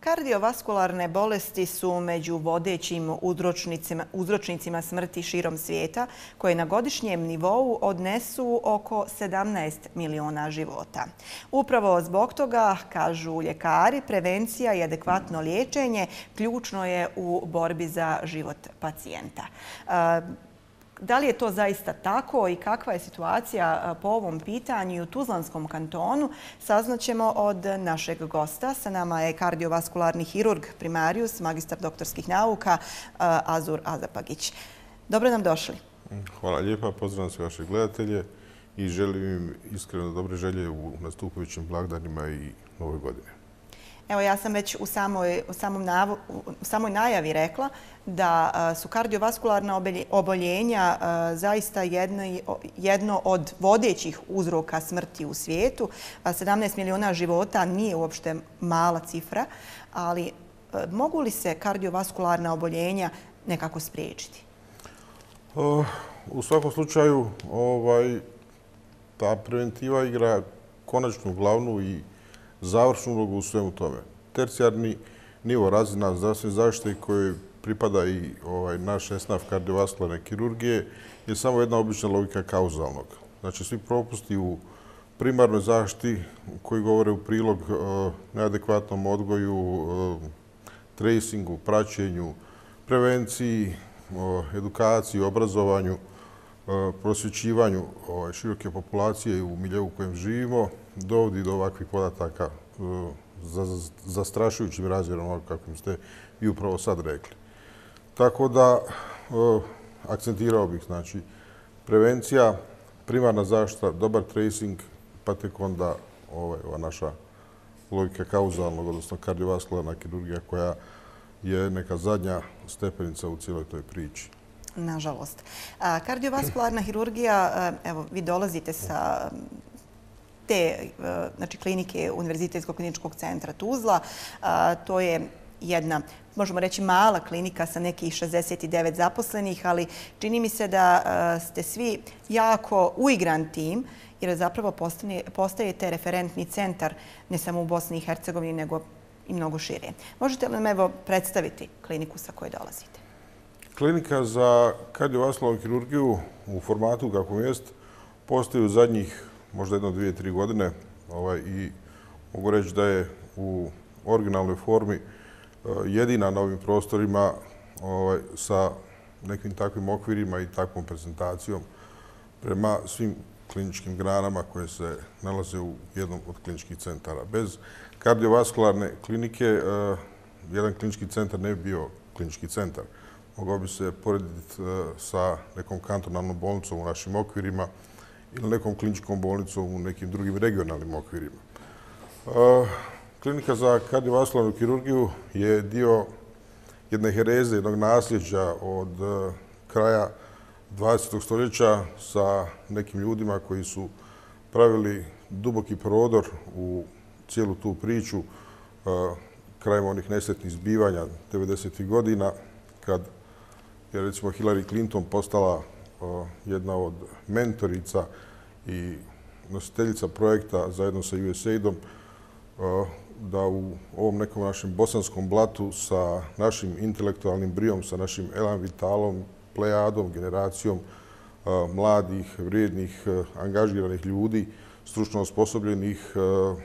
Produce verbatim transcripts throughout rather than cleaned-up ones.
Kardiovaskularne bolesti su među vodećim uzročnicima, uzročnicima smrti širom svijeta, koje na godišnjem nivou odnesu oko sedamnaest miliona života. Upravo zbog toga, kažu ljekari, prevencija i adekvatno liječenje ključno je u borbi za život pacijenta. Da li je to zaista tako i kakva je situacija po ovom pitanju u Tuzlanskom kantonu, saznaćemo od našeg gosta. Sa nama je kardiovaskularni hirurg primarius, magistar doktorskih nauka Azur Azapagić. Dobro nam došli. Hvala lijepa, pozdravljam sve vaše gledatelje i želim im iskreno dobre želje u nastupajućim blagdanima i Novoj godini. Evo, ja sam već u samoj, u samom navu, u samoj najavi rekla da su kardiovaskularna oboljenja zaista jedno, jedno od vodećih uzroka smrti u svijetu. sedamnaest miliona života nije uopšte mala cifra, ali mogu li se kardiovaskularna oboljenja nekako spriječiti? U svakom slučaju, ovaj, ta preventiva igra konačnu, glavnu i završnu ulogu u svemu tome. Tercijarni nivo razina zdravstvene zaštite kojoj pripada i ovaj, naš esnaf kardiovaskularne kirurgije je samo jedna obična logika kauzalnog. Znači, svi propusti u primarnoj zaštiti koji govore u prilog uh, neadekvatnom odgoju, uh, tracingu, praćenju, prevenciji, uh, edukaciji, obrazovanju, uh, prosvjećivanju ovaj, široke populacije u miljeu u kojem živimo, dovodi do ovakvih podataka uh, za zastrašujućim razmjerom, kako ste i upravo sad rekli. Tako da, uh, akcentirao bih, znači, prevencija, primarna zaštita, dobar tracing, pa tek onda ovaj, ova naša logika kauzalnog, odnosno kardiovaskularna kirurgija koja je neka zadnja stepenica u cijeloj toj priči. Nažalost. A, kardiovaskularna hirurgija, evo, vi dolazite sa te znači, klinike Univerzitetskog kliničkog centra Tuzla. A, to je jedna, možemo reći, mala klinika sa nekih šezdeset devet zaposlenih, ali čini mi se da a, ste svi jako uigran tim, jer zapravo postane, postajete referentni centar ne samo u Bosni i Hercegovini, nego i mnogo šire. Možete li nam evo predstaviti kliniku sa koje dolazite? Klinika za kardiovaskularnu kirurgiju u formatu kakvom jest postoji u zadnjih možda jedno, dvije, tri godine ovaj, i mogu reći da je u originalnoj formi jedina na ovim prostorima ovaj, sa nekim takvim okvirima i takvom prezentacijom prema svim kliničkim granama koje se nalaze u jednom od kliničkih centara. Bez kardiovaskularne klinike uh, jedan klinički centar ne bi bio klinički centar. Mogao bi se porediti uh, sa nekom kantonalnom bolnicom u našim okvirima ili nekom kliničkom bolnicom u nekim drugim regionalnim okvirima. Uh, klinika za kardiovaskularnu kirurgiju je dio jedne hereze, jednog nasljeđa od uh, kraja dvadesetog stoljeća sa nekim ljudima koji su pravili duboki prodor u cijelu tu priču uh, krajem onih nesretnih zbivanja devedesetih godina, kad je recimo Hillary Clinton postala uh, jedna od mentorica i nositeljica projekta zajedno sa U S A I D-om, uh, da u ovom nekom našem bosanskom blatu sa našim intelektualnim brijom, sa našim elan vitalom, plejadom, generacijom uh, mladih, vrijednih, uh, angažiranih ljudi, stručno osposobljenih, uh,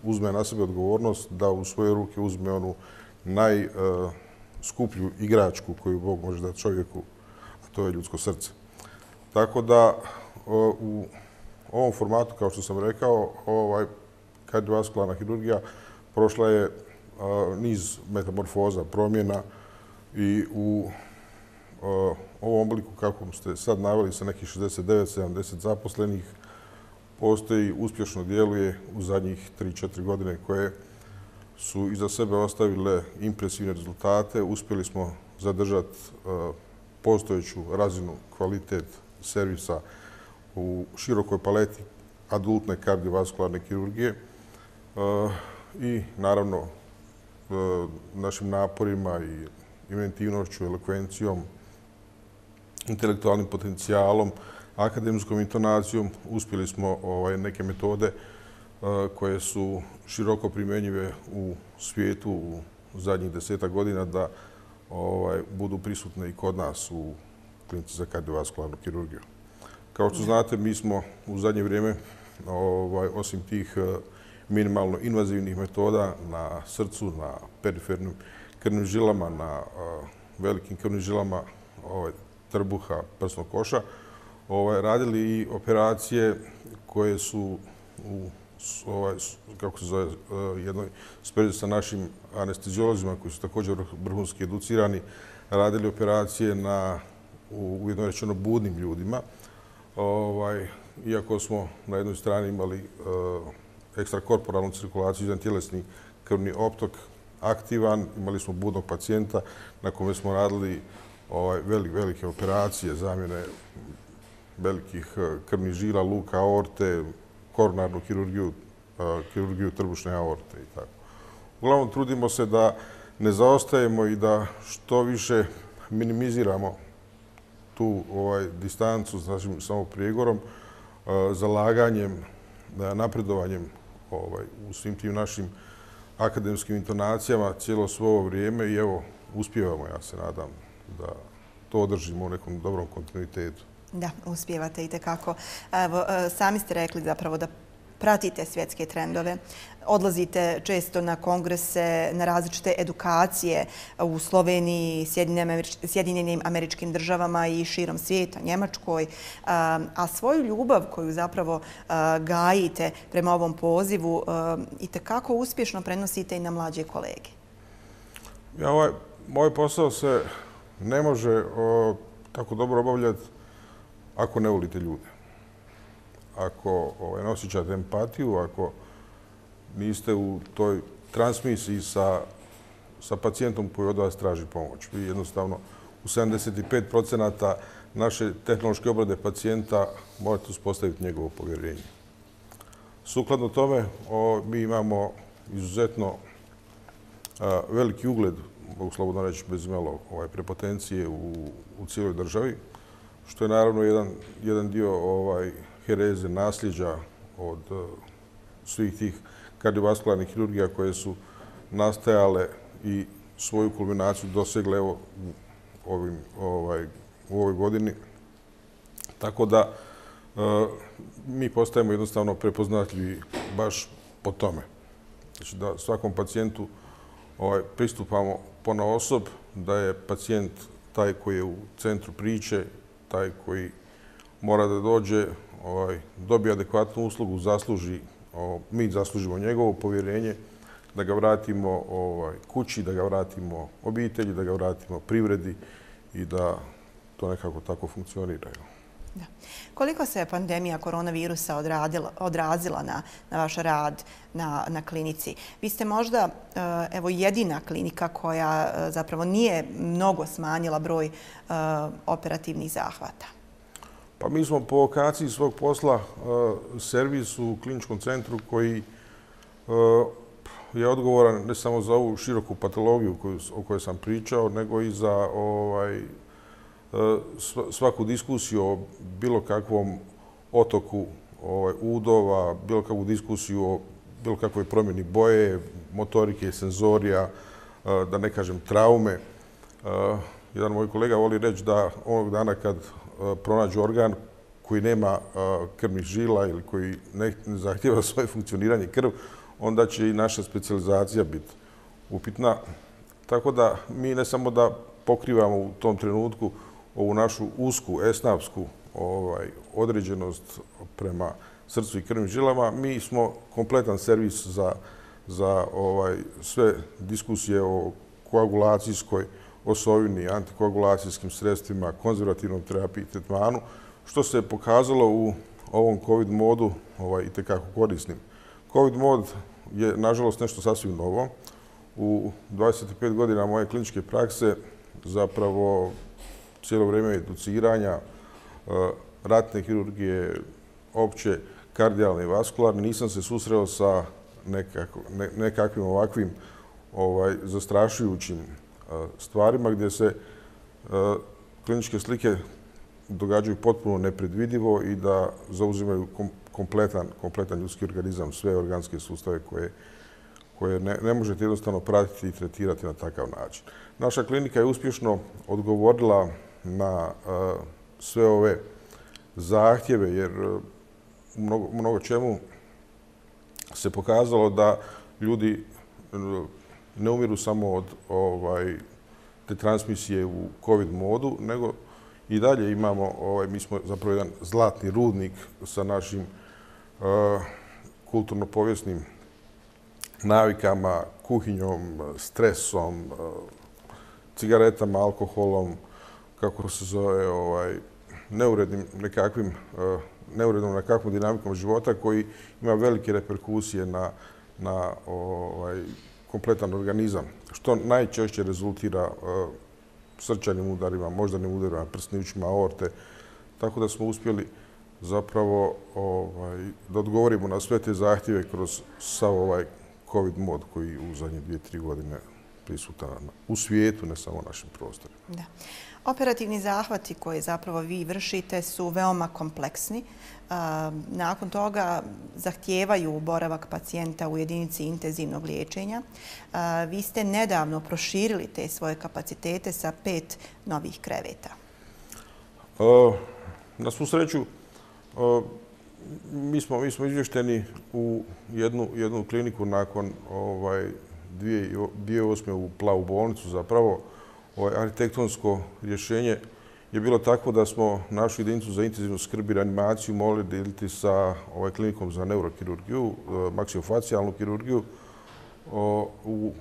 uzme na sebe odgovornost da u svoje ruke uzme onu najskuplju uh, igračku koju Bog može dati čovjeku, a to je ljudsko srce. Tako da uh, u ovom formatu, kao što sam rekao, ovaj, kardiovaskularna hirurgija prošla je uh, niz metamorfoza, promjena i u uh, ovom obliku kako ste sad naveli sa nekih šezdeset devet sedamdeset zaposlenih postoji, uspješno djeluje u zadnjih tri četiri godine koje su iza sebe ostavile impresivne rezultate. Uspjeli smo zadržati uh, postojeću razinu, kvalitet servisa u širokoj paleti adultne kardiovaskularne kirurgije uh, i naravno uh, našim naporima i inventivnošću, elokvencijom, intelektualnim potencijalom, akademskom intonacijom uspjeli smo ovaj, neke metode uh, koje su široko primjenjive u svijetu, u zadnjih desetak godina da budu prisutne i kod nas u klinici za kardiovaskularnu kirurgiju. Kao što znate, mi smo u zadnje vrijeme, osim tih minimalno invazivnih metoda na srcu, na perifernim krvnim žilama, na velikim krvnim žilama trbuha, prsnog koša, radili i operacije koje su u kako se zove, jednoj sprezi sa našim anesteziolozima koji su također vrhunski educirani, radili operacije na ujedno rečeno budnim ljudima. Iako smo na jednoj strani imali ekstrakorporalnu cirkulaciju, jedan tjelesni krvni optok aktivan, imali smo budnog pacijenta na kome smo radili velike operacije, zamjene velikih krvnih žila, luka, aorte, koronarnu kirurgiju, kirurgiju trbušne aorte i tako. Uglavnom, trudimo se da ne zaostajemo i da što više minimiziramo tu distancu s našim samoprijegorom, zalaganjem, napredovanjem u svim tim našim akademskim intonacijama cijelo svo ovo vrijeme i evo, uspijevamo, ja se nadam, da to održimo u nekom dobrom kontinuitetu. Da, uspijevate itekako. Evo, sami ste rekli zapravo da pratite svjetske trendove, odlazite često na kongrese, na različite edukacije u Sloveniji, Sjedinjenim Američkim Državama i širom svijeta, Njemačkoj, a svoju ljubav koju zapravo gajite prema ovom pozivu itekako uspješno prenosite i na mlađe kolege. Moj posao se ne može tako dobro obavljati ako ne volite ljude, ako ne osjećate empatiju, ako niste u toj transmisiji sa pacijentom koji od vas traži pomoć. Vi jednostavno u sedamdeset pet procenata naše tehnološke obrade pacijenta morate uspostaviti njegovo povjerenje. Sukladno tome, mi imamo izuzetno veliki ugled, mogu slobodno reći bez imalo prepotencije u cijeloj državi, što je naravno jedan dio hereze, nasljeđa od svih tih kardiovaskularnih kirurgija koje su nastajale i svoju kulminaciju dosegle u ovoj godini. Tako da mi postajemo jednostavno prepoznatljivi baš po tome. Znači da svakom pacijentu pristupamo ponaosob, da je pacijent taj koji je u centru priče, taj koji mora da dođe, dobije adekvatnu uslugu, zasluži, mi zaslužimo njegovo povjerenje, da ga vratimo kući, da ga vratimo obitelji, da ga vratimo privredi i da to nekako tako funkcionira. Koliko se pandemija koronavirusa odrazila na vaš rad na klinici? Vi ste možda jedina klinika koja zapravo nije mnogo smanjila broj operativnih zahvata. Pa mi smo po vokaciji svog posla servis u kliničkom centru koji je odgovoran ne samo za ovu široku patologiju o kojoj sam pričao, nego i za svaku diskusiju o bilo kakvom otoku udova, bilo kakvu diskusiju o bilo kakvoj promjeni boje, motorike, senzorija, da ne kažem traume. Jedan moj kolega voli reći da onog dana kad pronađu organ koji nema krvnih žila ili koji ne zahtijeva svoje funkcioniranje krv, onda će i naša specijalizacija biti upitna. Tako da mi ne samo da pokrivamo u tom trenutku ovu našu usku, esnafsku određenost prema srcu i krvnim žilama, mi smo kompletan servis za sve diskusije o koagulacijskoj osovini, antikoagulacijskim sredstvima, konzervativnom terapiji i tretmanu, što se pokazalo u ovom COVID modu itekako korisnim. COVID mod je, nažalost, nešto sasvim novo. U dvadeset pet godina moje kliničke prakse zapravo cijelo vrijeme educiranja, ratne kirurgije, opće, kardijalne i vaskularne, nisam se susreo sa nekakvim ovakvim zastrašujućim stvarima gdje se kliničke slike događaju potpuno nepredvidivo i da zauzimaju kompletan ljudski organizam, sve organske sustave koje ne, ne možete jednostavno pratiti i tretirati na takav način. Naša klinika je uspješno odgovorila na uh, sve ove zahtjeve, jer uh, mnogo, mnogo čemu se pokazalo da ljudi uh, ne umiru samo od ovaj, te transmisije u COVID modu, nego i dalje imamo, ovaj, mi smo zapravo jedan zlatni rudnik sa našim uh, kulturno-povijesnim navikama, kuhinjom, stresom, cigaretama, alkoholom, kako se zove, ovaj, neurednim nekakvim, neurednom nekakvom dinamikom života koji ima velike reperkusije na, na ovaj, kompletan organizam, što najčešće rezultira srčanim udarima, moždanim udarima, prsničima, aorte. Tako da smo uspjeli zapravo ovaj, da odgovorimo na sve te zahtjeve kroz sav ovaj COVID mod koji u zadnje dvije, tri godine prisutan u svijetu, ne samo u našim prostorima. Da. Operativni zahvati koje zapravo vi vršite su veoma kompleksni. Nakon toga zahtijevaju boravak pacijenta u jedinici intenzivnog liječenja. Vi ste nedavno proširili te svoje kapacitete sa pet novih kreveta. Na svu sreću, mi smo, mi smo izvješteni u jednu, jednu kliniku nakon ovaj, dvije tisuće osme u Plavu bolnicu. Zapravo, ovaj, arhitektonsko rješenje je bilo tako da smo našu jedinicu za intenzivnu skrb i reanimaciju mogli deliti sa ovaj, klinikom za neurokirurgiju, maksilofacijalnu kirurgiju, o, u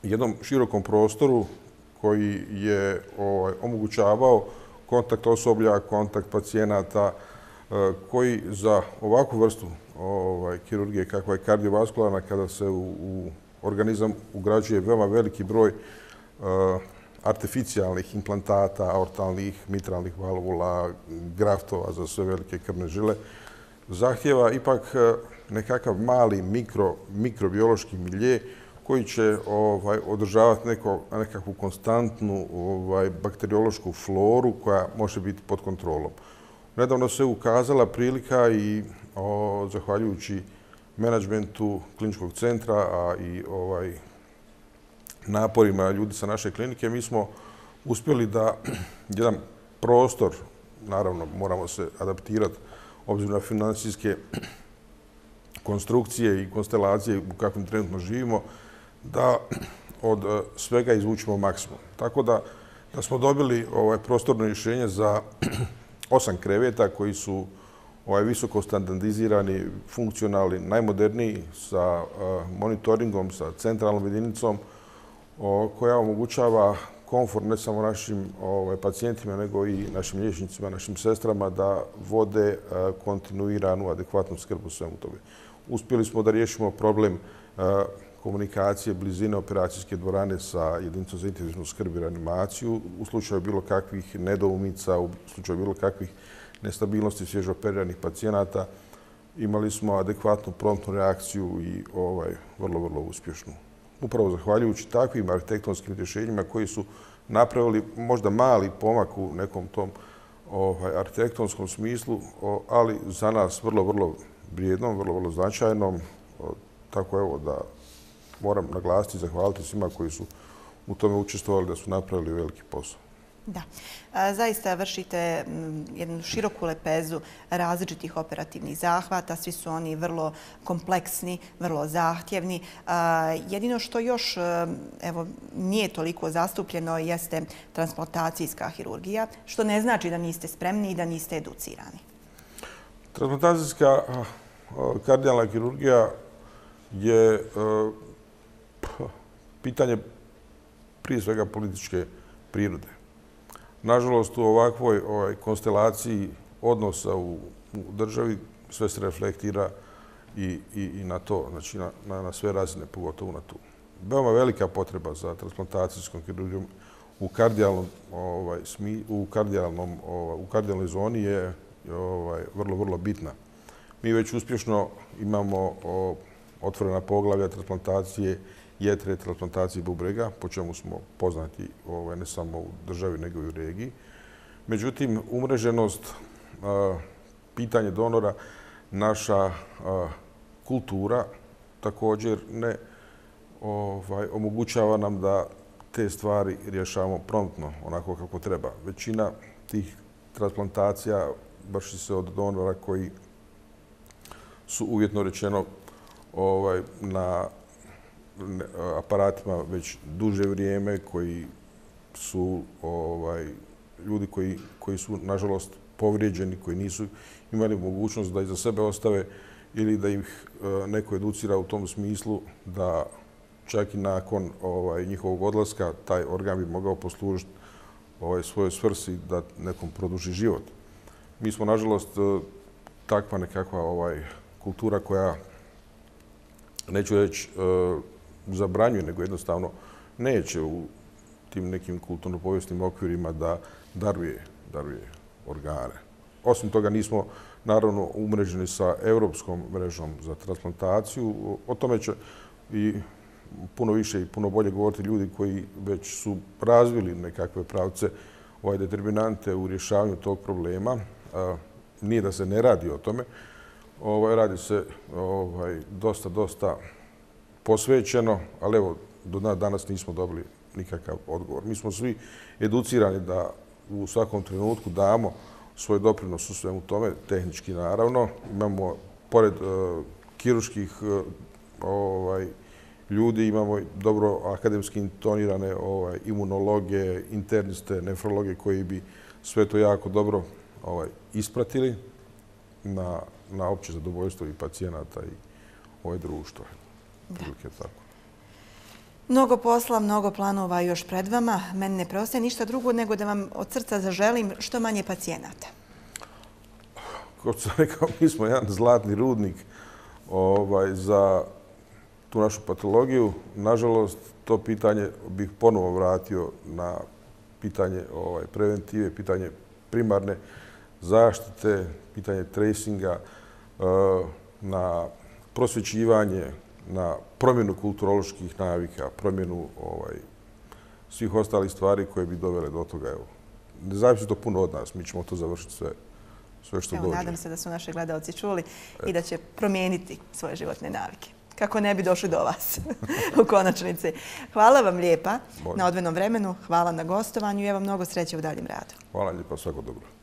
jednom širokom prostoru koji je ovaj, omogućavao kontakt osoblja, kontakt pacijenata, koji za ovakvu vrstu ovaj, kirurgije kakva je kardiovaskularna, kada se u, u organizam ugrađuje veoma veliki broj uh, artificijalnih implantata, aortalnih, mitralnih valvula, graftova za sve velike krvne žile, zahtjeva ipak uh, nekakav mali mikro, mikrobiološki milje koji će ovaj, održavati neko, nekakvu konstantnu ovaj, bakteriološku floru koja može biti pod kontrolom. Nedavno se ukazala prilika i o, zahvaljujući menadžmentu kliničkog centra, a i ovaj, naporima ljudi sa naše klinike, mi smo uspjeli da jedan prostor, naravno moramo se adaptirati obzirom na financijske konstrukcije i konstelacije u kakvim trenutno živimo, da od svega izvučimo maksimum. Tako da, da smo dobili ovaj, prostorno rješenje za osam kreveta koji su ovaj, visoko standardizirani, funkcionalni, najmoderniji, sa uh, monitoringom, sa centralnom jedinicom o, koja omogućava komfort ne samo našim ovaj, pacijentima, nego i našim liječnicima, našim sestrama da vode uh, kontinuiranu, adekvatnu skrb u svemu tome. Uspjeli smo da riješimo problem uh, komunikacije, blizine operacijske dvorane sa jedinicom za intenzivnu skrb i reanimaciju u slučaju bilo kakvih nedoumica, u slučaju bilo kakvih nestabilnosti svježo operiranih pacijenata. Imali smo adekvatnu promptnu reakciju i ovaj, vrlo, vrlo uspješnu. Upravo zahvaljujući takvim arhitektonskim rješenjima koji su napravili možda mali pomak u nekom tom ovaj, arhitektonskom smislu, ali za nas vrlo, vrlo vrijednom, vrlo, vrlo značajnom. Tako evo da moram naglasiti i zahvaliti svima koji su u tome učestvovali, da su napravili veliki posao. Da. Zaista vršite jednu široku lepezu različitih operativnih zahvata. Svi su oni vrlo kompleksni, vrlo zahtjevni. Jedino što još evo, nije toliko zastupljeno jeste transplantacijska hirurgija, što ne znači da niste spremni i da niste educirani. Transplantacijska kardijalna kirurgija je pitanje prije svega političke prirode. Nažalost, u ovakvoj ovaj, konstelaciji odnosa u, u državi sve se reflektira i, i, i na to, znači na, na, na sve razine, pogotovo na tu. Veoma velika potreba za transplantacijskom kirurgijom u kardijalnom, ovaj, smi, u kardijalnom, ovaj, u kardijalnoj zoni je ovaj, vrlo, vrlo bitna. Mi već uspješno imamo o, otvorena poglavlja transplantacije jetre, transplantacije bubrega, po čemu smo poznati ovaj, ne samo u državi, nego i u regiji. Međutim, umreženost, a, pitanje donora, naša a, kultura također ne ovaj, omogućava nam da te stvari rješavamo promptno, onako kako treba. Većina tih transplantacija vrši se od donora koji su uvjetno rečeno ovaj, na aparatima već duže vrijeme, koji su ovaj, ljudi koji, koji su, nažalost, povrijeđeni, koji nisu imali mogućnost da iza sebe ostave ili da ih neko educira u tom smislu da čak i nakon ovaj, njihovog odlaska taj organ bi mogao poslužiti ovaj, svojoj svrsi da nekom produži život. Mi smo, nažalost, takva nekakva ovaj, kultura koja, neću reći zabranjuje, nego jednostavno neće u tim nekim kulturno-povijesnim okvirima da daruje, daruje organe. Osim toga, nismo naravno umreženi sa Europskom mrežom za transplantaciju. O tome će i puno više i puno bolje govoriti ljudi koji već su razvili nekakve pravce, ovaj, determinante u rješavanju tog problema. Nije da se ne radi o tome. Ovaj, radi se ovaj, dosta, dosta posvećeno, ali evo, do danas nismo dobili nikakav odgovor. Mi smo svi educirani da u svakom trenutku damo svoj doprinos u svemu tome, tehnički naravno. Imamo, pored uh, kirurških uh, ovaj, ljudi, imamo dobro akademski intonirane ovaj, imunologe, interniste, nefrologe koji bi sve to jako dobro ovaj, ispratili na, na opće zadovoljstvo i pacijenata i ove društva. Tako. Mnogo posla, mnogo planova još pred vama. Meni ne preostaje ništa drugo nego da vam od srca zaželim što manje pacijenata. Kao što sam rekao, mi smo jedan zlatni rudnik ovaj, za tu našu patologiju. Nažalost, to pitanje bih ponovo vratio na pitanje ovaj, preventive, pitanje primarne zaštite, pitanje tracinga, na prosvjećivanje, na promjenu kulturoloških navika, promjenu ovaj, svih ostalih stvari koje bi dovele do toga. Evo, ne zavisi to puno od nas, mi ćemo to završiti sve, sve što Evo, dođe. Nadam se da su naši gledalci čuli i da će promijeniti svoje životne navike. Kako ne bi došli do vas u konačnici. Hvala vam lijepa Bolje. na odvojenom vremenu, hvala na gostovanju i evo mnogo sreće u daljem radu. Hvala lijepa, svako dobro.